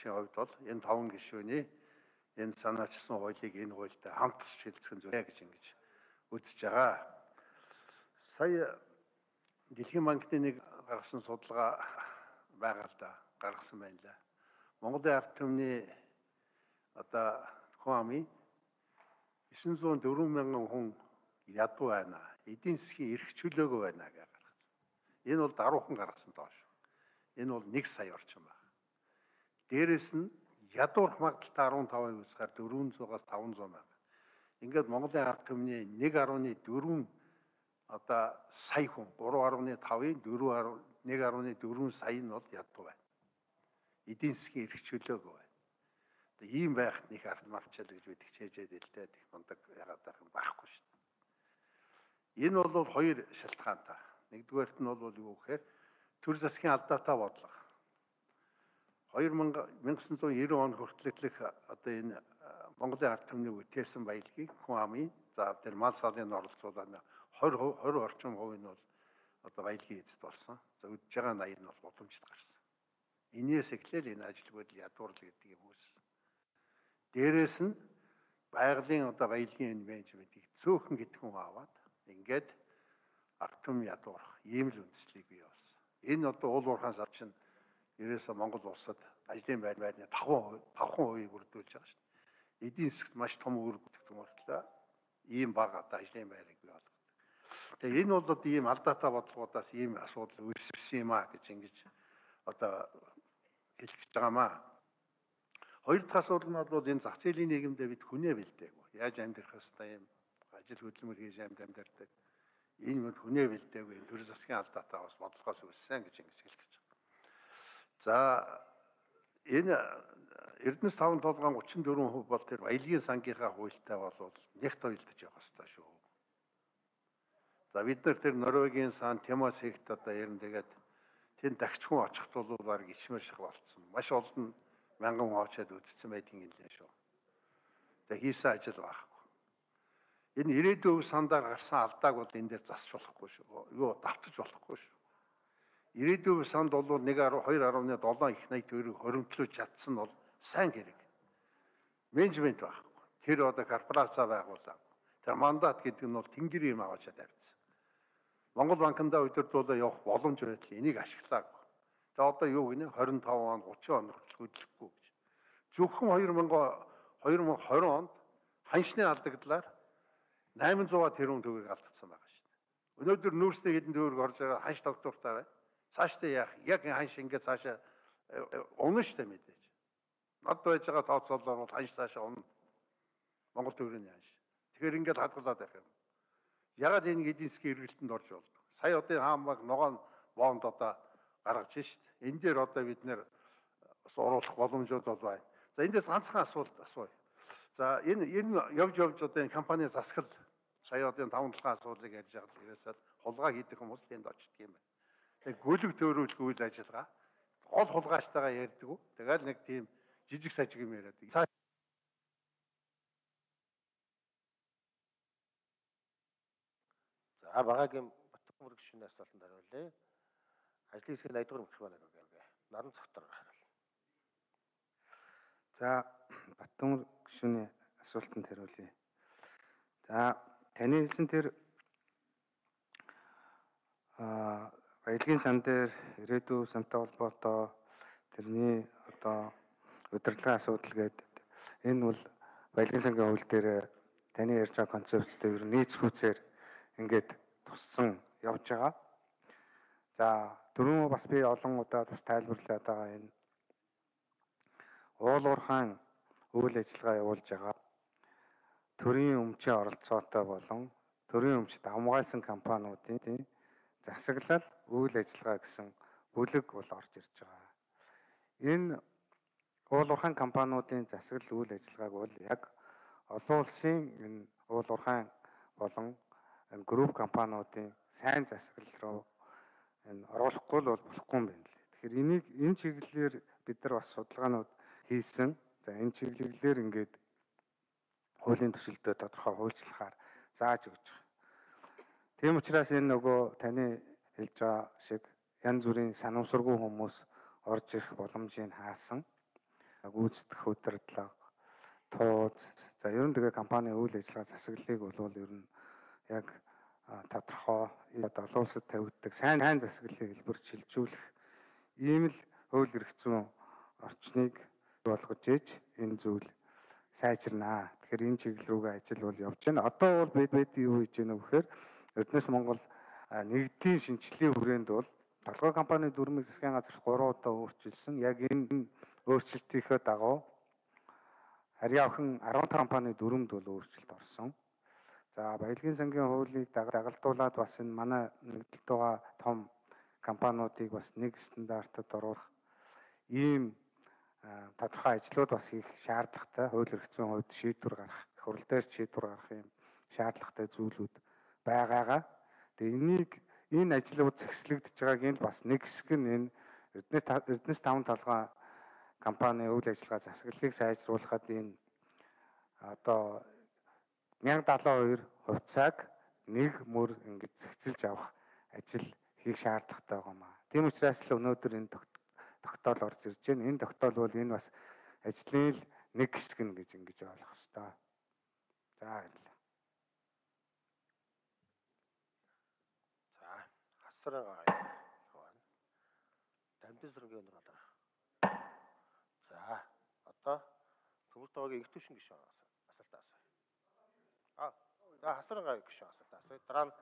багшийн хувьд бол энэ 5 гишүүний энэ санаачсан хуулийг энэ хуультай хамт шилжүүлэх нь зүйл гэж ингэж үзэж байгаа. Сая Дэлхийн банкны нэг гаргасан судалгаа байгаа л да, гаргасан байна лээ. Монголын ард түмний одоо хүн амын 904 мянган хүн ядуу байна. Эдийн засгийн эрх чөлөөгүй байна гэж гаргасан. Энэ бол даруухан гаргасан доош. Энэ бол 1 сая орчим байна. Дээрээс нь ядуурх магадaltaй 15% усгаар 400-аас 500 байна. Ингээд Монголын ард түмний 1.4 одоо сая хүн 3.5-ын 1.4 сая нь бол ядуу байна. Эдийн засгийн эрх чөлөөгүй байна. Тэгээ ийм байхад нэг ард мавчаал гэж бид хичээжээд илтээд их мундаг ягаад байх юм байхгүй шүү дээ. Энэ бол хоёр шалтгаантай. Нэгдүгээрт нь бол юу гэхээр төр засгийн алдаатай бодлого. 1990 он хүртэлх одоо энэ Монголын ард түмний үтээсэн баялагийг хүн амын за тэр мал салын оролцуулаад 20 орчим хувь нь бол одоо баялагын эзэд болсон. За үдж байгаа 80 нь бол гудамжид гарсан. Энээс эхлээл энэ ажилгүйд ядуурлал гэдэг юм үүссэн. Дээрээс нь байгалийн одоо баялагын энэ менежментийг цөөхөн гэдэг хүн аваад ингээд ард түмэн ядуурах ийм л үндслийг бий болсон. Энэ одоо уул уурхаан сар чинь ерөөсөө Монгол улсад ажлын байрны 5% бүрдүүлж байгаа шүү дээ. Эдийн засгт маш том үүрэг бүтэх мөртлөө ийм бага одоо ажлын байрыг бий болгодог. Тэгээ энэ бол одоо ийм алдаатай бодлогоодаас ийм асуудал үүссэн юм а гэж ингэж одоо хэлэх гэж байгаамаа. Хоёр дахь асуудал нь бол энэ зах зээлийн нийгэмдээ бид хүнээ бэлдээгүй. Яаж амьдрах хэвээр юм ажил хөдөлмөр хийж амьдардаг. Энэ мөр хүнээ бэлдээгүй төр засгийн алдаатай бас бодлогоос үүссэн гэж ингэж хэлэх гэж байна. За энэ Эрдэнэс 5 толгойн 34% бол тэр баялагын сангийнхаа хуультай бол нягт тойлдож явах хэрэгтэй шүү. За бид нар тэр Норвегийн сан Тимос хэгт одоо ярин тэгээд тэнд дахиж хүн очихт бол баг ичмэр шиг болцсон. Маш олон мянган хүн очиад үдцсэн байдгийн гэлээ шүү. Тэгээд хийсэн ажил байхгүй. Энэ ирээдүйн сандаар гарсан алдааг бол энэ дээр засч болохгүй шүү. Юу давтаж болохгүй шүү. Ирээдүйн санд бол 2.7 их 80 төгрөг хоримтлуулж чадсан нь бол сайн хэрэг. Менежмент байхгүй. Тэр одоо корпорацаа байгуулав. Тэр мандат гэдэг нь бол тэнгэр юм аваачаа тавьсан. Монгол банкндаа удирдуулаад явах боломж байдлаа энийг ашиглаагүй. Тэгээ одоо юу гинэ 25 он 30 он хөдлөхгүй гэж. Зөвхөн 2020 онд ханшны алдагдлаар 800 тэрбум төгрөг алдсан байгаа шүү дээ. Өнөөдөр нүүрсний хэдэн төгрөг орж байгаа ханш доктортай бай. Цаашдаа яах? Яг ханш ингээд цаашаа унах штэ мэдээж. Над байж байгаа тооцоолоор бол ханш цаашаа унах. Монгол төгрөгийн ханш. Тэгэхээр ингээд хадгалаад байх юм. Ягаад энэ эдийн засгийн эргэлтэнд орж болдог? Сая одоо хаамаг ногоон бонд одоо гаргаж шít. Энэ дээр одоо бид нэр оруулах боломжууд бол байна. За эндээс ганцхан асуулт асууя. За энэ явж одоо энэ компани засгал сая одоо 5 толгойн асуудлыг ярьж байгаа л ерөөсөө хулгай хийдэг хүмүүс энд очдөг юм байна. Тэгээ гүйлэг төөрүүлэх үйл ажиллагаа гол хулгайчтайгаа ярьдаг уу? Тэгэл нэг тийм жижиг сажиг юм яриад. За багаагийн Батбаяр гишүүний асуултанд хариулъя. Ажлын хэсгийн 80 дугаар микрофон өгөөг. Наран цогтор хариул. За Батбаяр гишүүний асуултанд хариулъя. За таны хэлсэн тэр баялагын сан дээр ирээдүйн сантай холбоотой тэрний одоо удирдлагын асуудал гэдэг энэ бол баялагын сангийн хууль дээр таны ярьж байгаа концепцтэй ер нь нийц хүүцээр ингээд туссан явж байгаа. За дөрөв бас би олон удаа бас тайлбарлаад байгаа энэ уул уурхаан үйл ажиллагаа явуулж байгаа төрийн өмчийн оролцоотой болон төрийн өмчт хамгаалсан компаниудын засаглал үйл ажиллагаа гэсэн бүлэг бол орж ирж байгаа. Энэ уул уурхаан компаниудын засаглал үйл ажиллагааг бол яг олон улсын энэ уул уурхаан болон энэ групп компаниудын сайн засаглал руу энэ оруулахгүй бол болохгүй юм байна лээ. Тэгэхээр энэ чиглэлээр бид нар бас судалгаанууд хийсэн. За энэ чиглэлээр ингээд хуулийн төсөлдөө тодорхой хуульчлахаар зааж өгч байгаа. Тийм учраас энэ нөгөө таны хэлж байгаа шиг янз бүрийн санамсаргүй хүмүүс орж ирэх боломжийг хаасан. гүйцэтгэх удирдлага, тууз. За ер нь тэгээ компани үйл ажиллагаа засаглалыг бол ер нь яг тодорхой олон улсад тавигддаг сайн засаглалыг хэлбэр шилжүүлэх ийм л хууль эрх зүйн орчныг болгож ээж энэ зүйл сайжирнаа. Тэгэхээр энэ чиглэл рүүгээ ажил бол явж байна. Одоо бол бид юу хийж байна вэ гэхээр Эрдэнэс Монгол нэгдлийн шинжилгээний хүрээнд бол толгой компани дүрмийг засгийн газар 3 удаа өөрчилсөн. Яг энэ өөрчлөлтийнхөө дагуу харьяа охин 15 компани дүрмд бол өөрчлөлт орсон. За баялагын сангийн хуулийг дагалдуулаад бас энэ манай нэгдэлд байгаа том компаниудыг бас нэг стандартад оруулах ийм тодорхой ажлууд бас хийх шаардлагатай. Хууль эрх зүйн хувьд шийдвэр гаргах, хурал дээр шийдвэр гаргах юм шаардлагатай зүйлүүд байгаагаа. Тэгээ энэ ажлууд зэгслэгдэж байгаагийн бас нэг хэсэг нь энэ Эрдэнэс 5 толгой компани үйл ажиллагаа засаглалыг сайжруулахад энэ одоо 1072 хувьцааг нэг мөр ингэж зэгцэлж авах ажил хийх шаардлагатай байгаа маа. Тийм учраас л өнөөдөр энэ тогтоол орж ирж байна. Энэ тогтоол бол энэ бас ажлын л нэг хэсэг нь гэж ингэж ойлгох хэрэгтэй. За баярлалаа. За хасрын гай байна. Дамжин сэргийн өнөр болоо. За одоо төмөр тоогийн игтүүшин гишүүн асуултаа асууя. За хасрын гай гишүүн асуултаа асууя. Дараа нь